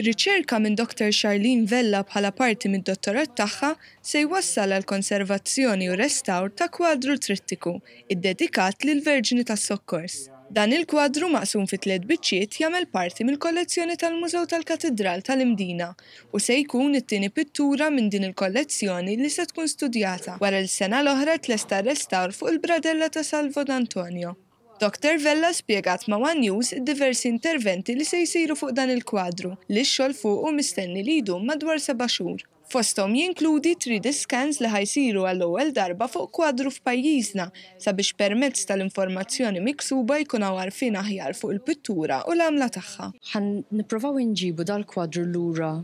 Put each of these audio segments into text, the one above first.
Riċerka minn Dr Charlene Vella bħala parti mid-dottorat tagħha se jwassal għall-konservazzjoni u restawr ta' kwadru trittiku ddedikat lill-Verġni tas-Sokkors. Dan il-kwadru maqsum fi tliet biċċiet jagħmel parti mill-kollezzjoni tal-Mużew tal-Katidral tal-Imdina u se jkun it-tieni pittura minn din il-kollezzjoni li se tkun studjata wara li s-sena l-oħra tlesta r-restawr fuq il-bradella ta' Salvo D'Antonio. Dr Vella spjegat ma' one News id-diversi interventi li se jsiru fuq dan il-kwadru, li x-xogħol fuqu mistenni li jdum madwar seba' xhur. Fosthom jinkludi 3D scans li ħa jsiru għall-ewwel darba fuq kwadru f'pajjiżna sabiex permezz tal-informazzjoni miksuba jkun hawn għarfien aħjar fuq il-pittura u l-għamla tagħha. Ħa nipprovaw inġibu dal-kwadru lura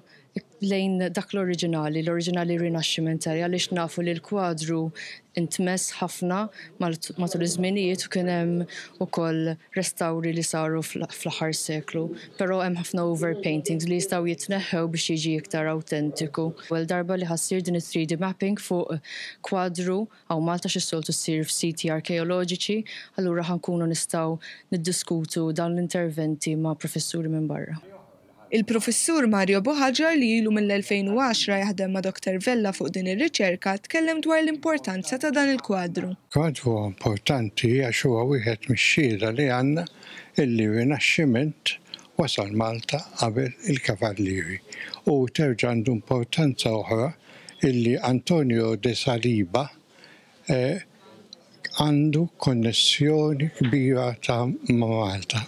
lejn dak l-oriġinali, l-oriġinali rinaxximentali għaliex nafu li l-kwadru intmess ħafna matul iż-żminijiet u kien hemm ukoll restawri li saru fl-aħħar seklu. Però hemm ħafna overpaintings li jistgħu jitneħħew biex jiġi iktar awtentiku. L-ewwel darba li ħa ssir din it-3D mapping fuq kwadru hawn Malta x'is-soltu ssir f'siti arkeoloġiċi, allura ħa nkunu nistgħu niddiskutu dawn l-interventi ma' professuri minn barra. Il-Professur Mario Buhagiar li ilu mill-2010 jaħdem ma' Dr Vella fuq din ir-riċerka tkellem dwar l-importanza ta' dan il-kwadru. Kwadru huwa importanti għax huwa wieħed mix-xhieda li għandna illi r-Rinaxximent wasal Malta qabel il-Kavallieri u terġa' għandu importanza oħra illi Antonio de Saliba għandu konnessjoni kbira ta' ma' Malta.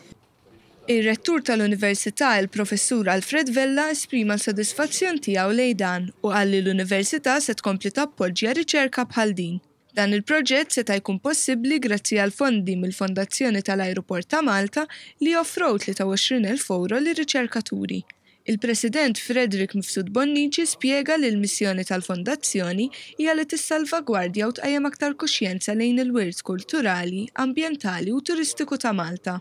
Ir-Rettur tal-Università, il-Professur Alfred Vella esprima l-sodisfazzjon tiegħu lejn dan u qal li l-Università se tkompli tappoġġja riċerka bħal din. Dan il-proġett seta' jkun possibbli grazzi għal fondi mill-Fondazzjoni tal-Ajruport ta' Malta li offrow 23,000 ewro lir-riċerkaturi. Il-President Frederick Mifsud Bonnici spjega li l-missjoni tal-Fondazzjoni hija li tissalvagwardja u tqajjem aktar kuxjenza lejn il-wirt kulturali, ambjentali u turistiku ta' Malta.